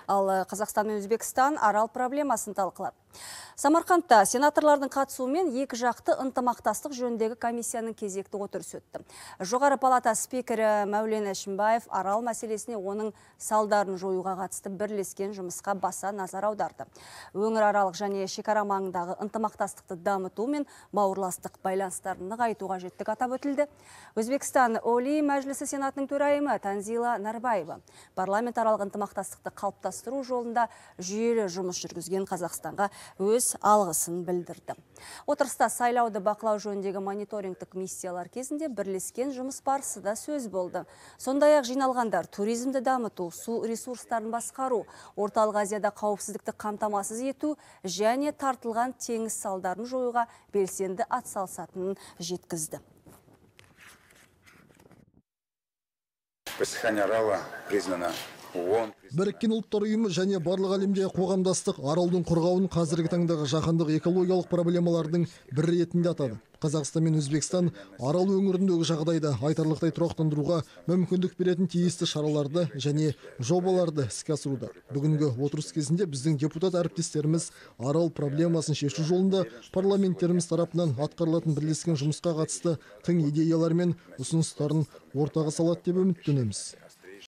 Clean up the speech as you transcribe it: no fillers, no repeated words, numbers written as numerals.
Ал Қазақстан мен Өзбекстан арал проблемасын талқылады. Самарқандта сенаторлардың қатысуымен екі жақты ынтымақтастық жөніндегі комиссияның кезекті отырысы өтті. Жоғары палата спикері Мәулен Әшімбаев арал мәселесіне оның салдарын жоюға қатысты бірлескен жұмысқа баса назар аударды. Өңіраралық және шекара маңындағы ынтымақтастықты дамыту мен бауырластық байланыстарын нығайтуға қажеттігі атап өтілді. Өзбекстан Олий Мәжілісі Сенатының төрайымы Танзила Нарбаева парламент аралық ынтымақтастықты қалыптастыру жолында жүйелі жұмыс жүргізген Қазақстанға өз алғысын білдірді. Отырыста сайлауды бақылау жөніндегі мониторингтік миссиялар кезінде бірлескен жұмыс барысы да сөз болды. Сондай-ақ жиналғандар туризмді дамыту, су ресурстарын басқару, Орталық Азияда қауіпсіздікті қамтамасыз ету және тартылған теңіз салдарын жоюға белсенді атсалысатынын жеткізді. Біріккен ұлттар ұйымы және барлық әлемде қоғамдастық аралдың қорғауын қазіргі таңдағы жаһандық экологиялық проблемалардың бірі ретінде атады. Қазақстан мен Өзбекстан арал өңіріндегі жағдайды айтарлықтай тұрақтандыруға мүмкіндік беретін тиісті шараларды және жобаларды іске асыруда. Бүгінгі отырыс кезінде біздің депутат әріптестеріміз арал проблемасын шешу жолында парламенттеріміз тарапынан атқарылатын бірлескен жұмысқа қатысты тың идеялар мен ұсыныстарын ортаға салады деп үміттенеміз.